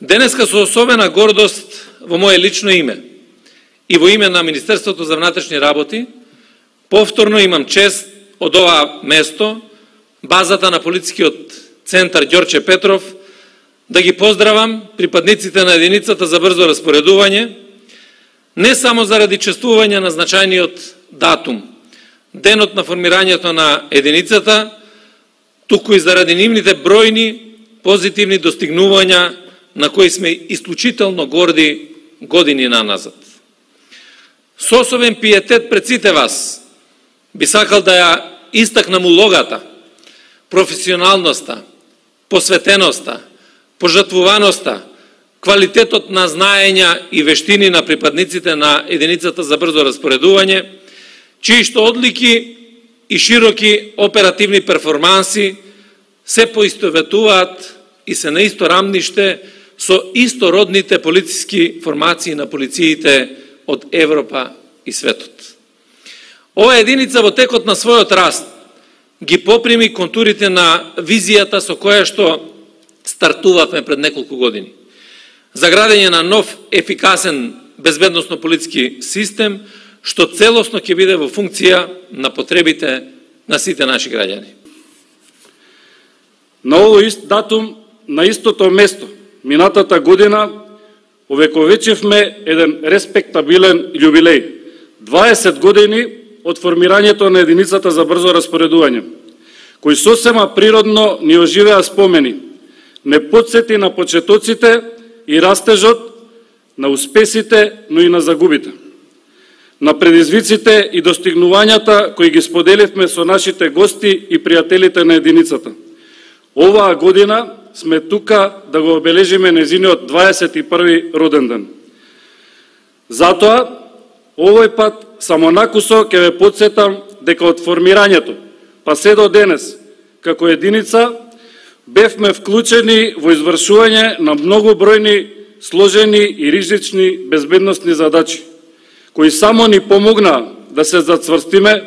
Денеска со особена гордост во моje лично име и во име на Министерството за внатрешни работи, повторно имам чест од ова место, базата на полицискиот центар Ѓорче Петров, да ги поздравам припадниците на единицата за брзо распоредување, не само заради чествување на значајниот датум, денот на формирањето на единицата, туку и заради нивните бројни позитивни достигнувања на кои сме исклучително горди години наназад. Со особен пиетет пред сите вас би сакал да ја истакнам улогата, професионалноста, посветеноста, пожртвуваноста, квалитетот на знаења и вештини на припадниците на единицата за брзо распоредување, чии што одлики и широки оперативни перформанси се поистоветуваат и се на исто рамниште со истородните полициски формации на полициите од Европа и светот. Ова единица во текот на својот раст ги поприми контурите на визијата со која што стартувавме пред неколку години. За градење на нов, ефикасен, безбедносно полициски систем, што целосно ќе биде во функција на потребите на сите наши граѓани. На овој ист датум, на истото место, минатата година, овековечевме еден респектабилен јубилеј. 20 години од формирањето на единицата за брзо распоредување, кој сосема природно ни оживеа спомени, не подсети на почетоците и растежот, на успесите, но и на загубите, на предизвиците и достигнувањата кои ги споделивме со нашите гости и пријателите на единицата. Оваа година сме тука да го обележиме незиниот 21 роден ден. Затоа, овој пат само накусо ќе ве подсетам дека од формирањето, па се до денес, како единица, бевме вклучени во извршување на многобројни сложени и ризични безбедносни задачи, кои само ни помогнаа да се зацврстиме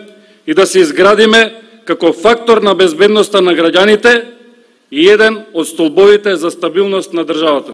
и да се изградиме како фактор на безбедноста на граѓаните и еден од столбовите за стабилност на државата.